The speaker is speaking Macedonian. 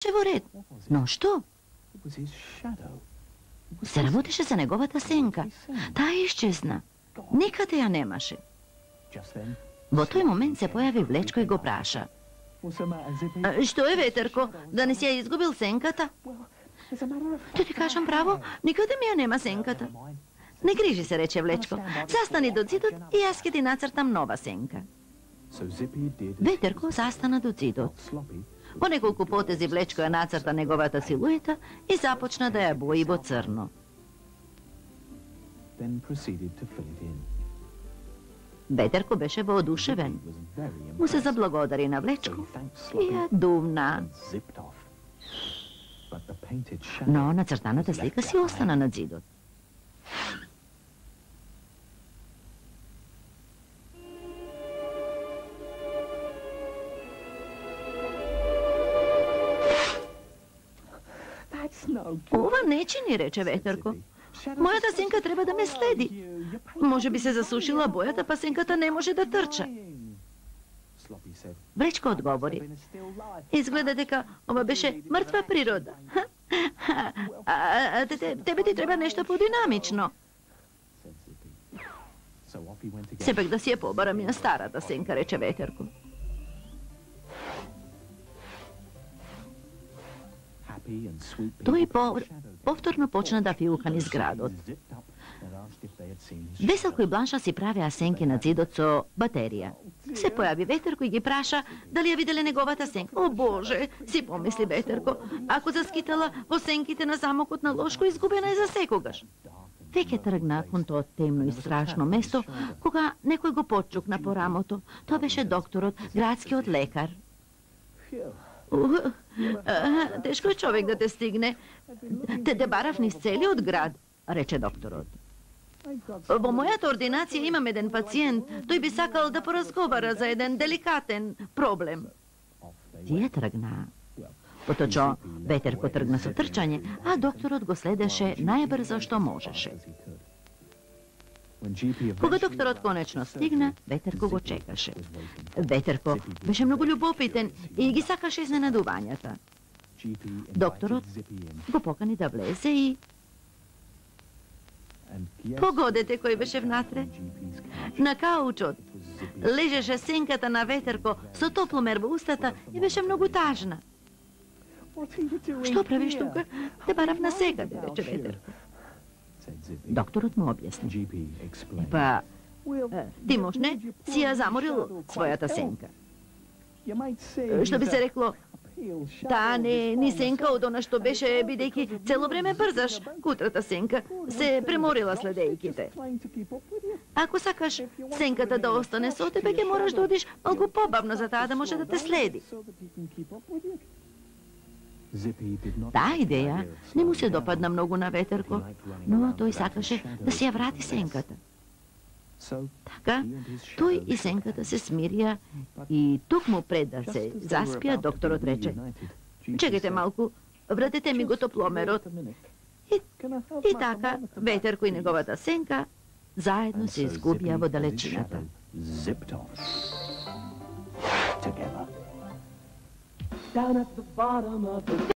во ред. Но што? Се работеше за неговата сенка. Таа исчезна. Никаде ја немаше. Во тој момент се појави Влечко и го праша. Што е, Ветерко, да не си ја изгубил сенката? Ти ти кажам право, никаде ми ја нема сенката. Не грижи се, рече Влечко. Застани до зидот и јас ќе ти нацртам нова сенка. Ветерко застана до зидот. По неколку потези Влечко ја нацрта неговата силуета и започна да ја бои во црно. Ветерко беше воодушевен. Му се заблагодари на Влечко и ја дувна. Но нацртаната слика си остана на зидот. Ова не чини, рече Ветерко. Мојата сенка треба да ме следи. Може би се засушила бојата, па сенката не може да трча. Влечко одговори. Изгледа дека ова беше мртва природа. Тебе ти треба нешто подинамично. Сепак да си ја побарам и на старата сенка, рече Ветерко. Тој повторно почна да фиука низ градот. Веселко и Бланша си правеа сенки на зидот со батерија. Се појави Ветерко и ги праша дали ја виделе неговата сенка. О, Боже, си помисли Ветерко, ако заскитала во сенките на замокот на Лошко, изгубена е за секогаш. Веќе тргна кон тоа темно и страшно место, кога некој го потчукна по рамото. Тоа беше докторот, градскиот лекар. Тешко е човек да те стигне. Те барав низ целиот град, рече докторот. Во мојата ординација имам еден пациент, тој би сакал да поразговара за еден деликатен проблем. Тие тргнаа. Поточо Ветерко тргна со трчање, а докторот го следеше најбрзо што можеше. Кога докторот конечно стигна, Ветерко го чекаше. Ветерко беше многу љубопитен и ги сакаше изненадувањата. Докторот го покани да влезе и... Погодете кој беше внатре. На каучот лежеше сенката на Ветерко со топломер во устата и беше многу тажна. Што правиш тука? Те барав на секаде, рече Ветерко. Докторот му објасни. Па, ти можне си ја заморил својата сенка. Што би се рекло, таа не ни сенка од она што беше, бидејќи цело време брзаш. Кутрата сенка се преморила следејките. Ако сакаш сенката да остане со тебе, ќе мораш да одиш малку побавно за таа да може да те следи. Таа идеја не му се допадна многу на Ветерко, но тој сакаше да си ја врати сенката. Така, тој и сенката се смирија и токму пред да се заспија, докторот рече: чекајте малку, вратете ми го топломерот. И така, Ветерко и неговата сенка заедно се изгубија во далечината. Down at the bottom of the